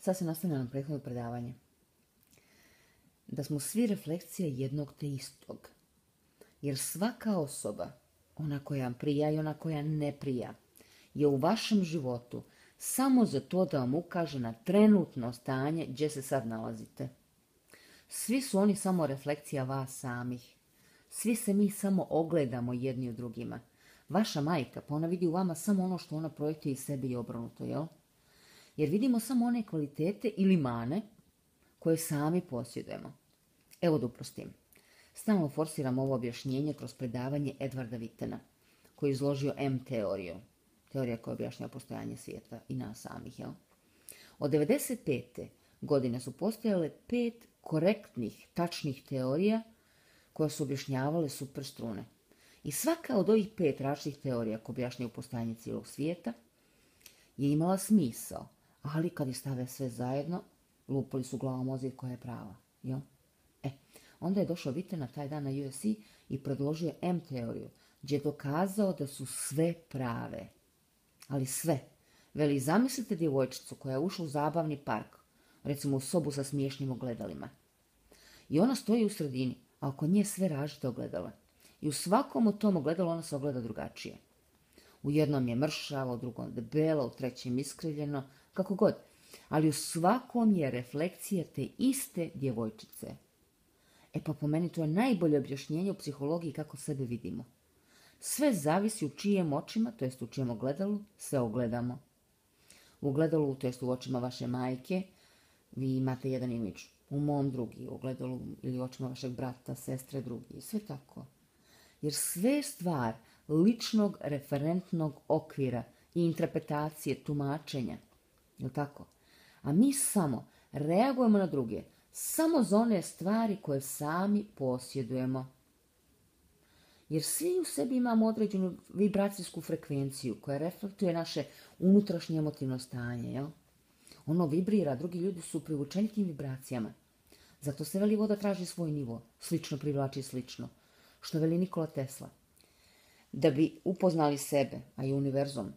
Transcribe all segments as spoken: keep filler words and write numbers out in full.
sad se nastavlja na prethodno predavanje. Da smo svi refleksija jednog te istog. Jer svaka osoba, ona koja prija i ona koja ne prija, je u vašem životu samo za to da vam ukaže na trenutno stanje gdje se sad nalazite. Svi su oni samo refleksija vas samih. Svi se mi samo ogledamo jedni u drugima. Vaša majka, pa ona vidi u vama samo ono što ona projektuje iz sebe i obrnuto, jel? Jer vidimo samo one kvalitete ili mane koje sami posjedujemo. Evo da uprostim. Stalno forsiram ovo objašnjenje kroz predavanje Edvarda Wittena, koji je izložio M-teoriju. Teorija koja objašnjava postojanje svijeta i nas samih, jel? Od devedeset pete godine su postojale pet korektnih, tačnih teorija koje su objašnjavale superstrune. I svaka od ovih pet različitih teorija koje objašnjaju postojanje cijelog svijeta je imala smisao, ali kad ih stave sve zajedno, lupali su glavom o zid koja je prava, jel? E, onda je došao Witten na taj dan na U S C i predložio M-teoriju, gdje je dokazao da su sve prave. Ali sve. Veli, zamislite djevojčicu koja je ušla u zabavni park, recimo u sobu sa smiješnim ogledalima. I ona stoji u sredini, a oko nje sve različite ogledala. I u svakom od tom ogledalu ona se ogleda drugačije. U jednom je mršava, u drugom debela, u trećem iskrivljeno, kako god. Ali u svakom je refleksija te iste djevojčice. E pa po meni to je najbolje objašnjenje u psihologiji kako sebe vidimo. Sve zavisi u čijem očima, to jest u čijem ogledalu, se ogledamo. U ogledalu, to jest u očima vaše majke, vi imate jedan imidž. U mom drugi, u ogledalu ili očima vašeg brata, sestre, drugi. Sve tako. Jer sve je stvar ličnog referentnog okvira i interpretacije, tumačenja. Je li tako? A mi samo reagujemo na druge, samo za one stvari koje sami posjedujemo. Jer svi u sebi imamo određenu vibracijsku frekvenciju koja reflektuje naše unutrašnje emotivno stanje. Jel? Ono vibrira, drugi ljudi su privučeni tim vibracijama. Zato se veli voda traži svoj nivo, slično privlači slično. Što veli Nikola Tesla. Da bi upoznali sebe, a i univerzum,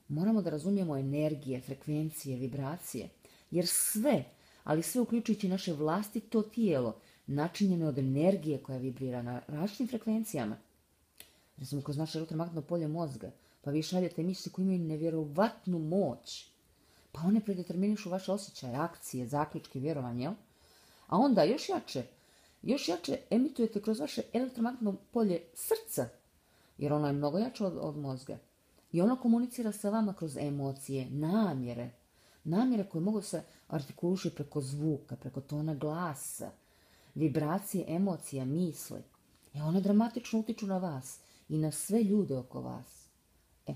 moramo da razumijemo energije, frekvencije, vibracije. Jer sve, ali sve uključujući naše vlastito tijelo, načinjeno je od energije koja vibrira na različitim frekvencijama. Recimo kroz naše elektromagnetno polje mozga, pa vi šaljete misli koje imaju nevjerovatnu moć. Pa one predeterminišu vaše osjećaje, akcije, zaključke, vjerovanje, jel? A onda još jače, još jače emitujete kroz vaše elektromagnetno polje srca, jer ono je mnogo jače od, od mozga. I ono komunicira sa vama kroz emocije, namjere. Namjere koje mogu se artikulišiti preko zvuka, preko tona glasa, vibracije, emocija, misli. I one dramatično utiču na vas i na sve ljude oko vas. E,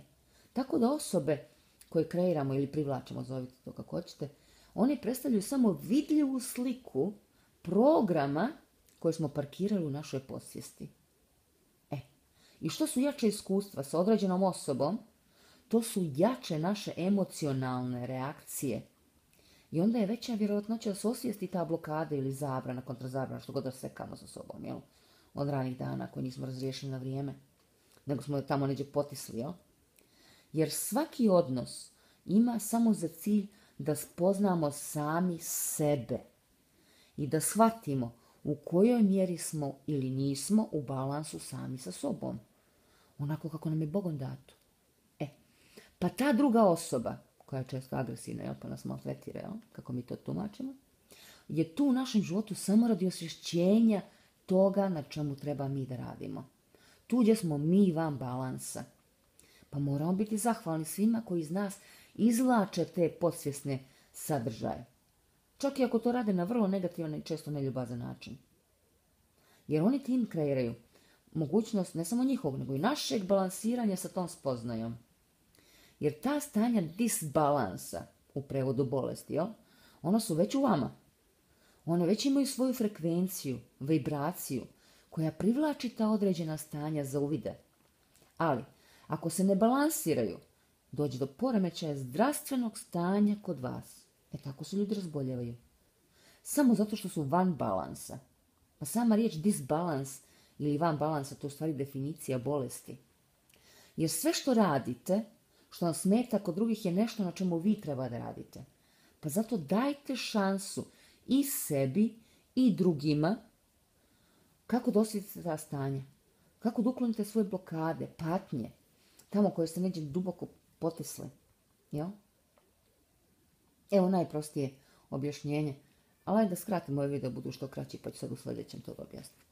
tako da osobe koje kreiramo ili privlačimo, zovite to kako hoćete, one predstavljaju samo vidljivu sliku programa koje smo parkirali u našoj podsvijesti. E, i što su jače iskustva sa određenom osobom, to su jače naše emocionalne reakcije. I onda je veća vjerojatnoća da se osvijesti ta blokada ili zabrana, kontrazabrana, što god da sekamo sa sobom, jel? Od ranih dana koje nismo razriješili na vrijeme, nego smo tamo neđe potisli, jel? Jer svaki odnos ima samo za cilj da spoznamo sami sebe i da shvatimo u kojoj mjeri smo ili nismo u balansu sami sa sobom. Onako kako nam je Bogom dato. E, pa ta druga osoba, koja je često agresivna, jel, pa nas maltretira, jel, kako mi to tumačimo, je tu u našem životu samo radi osvješćenja toga na čemu treba mi da radimo. Tu gdje smo mi van balansa. Pa moramo biti zahvalni svima koji iz nas izvlače te podsvjesne sadržaje. Čak i ako to rade na vrlo negativan i često neljubazan način. Jer oni tim kreiraju mogućnost ne samo njihovog, nego i našeg balansiranja sa tom spoznajom. Jer ta stanja disbalansa, u prevodu bolesti, jel, ona su već u vama. One već imaju svoju frekvenciju, vibraciju, koja privlači ta određena stanja za uvide. Ali, ako se ne balansiraju, dođe do poremećaja zdravstvenog stanja kod vas. E tako se ljudi razboljevaju. Samo zato što su van balansa. Pa sama riječ disbalans ili van balansa, to je u stvari definicija bolesti. Jer sve što radite, što vam smeta kod drugih, je nešto na čemu vi treba da radite. Pa zato dajte šansu i sebi i drugima kako da osjetite ta stanja. Kako da uklonite svoje blokade, patnje, tamo koje ste neđe duboko potisli. Jel? Evo najprostije objašnjenje. Ali ajde da skratimo ovaj video, budu što kraći, pa ću sad u sljedećem to objasniti.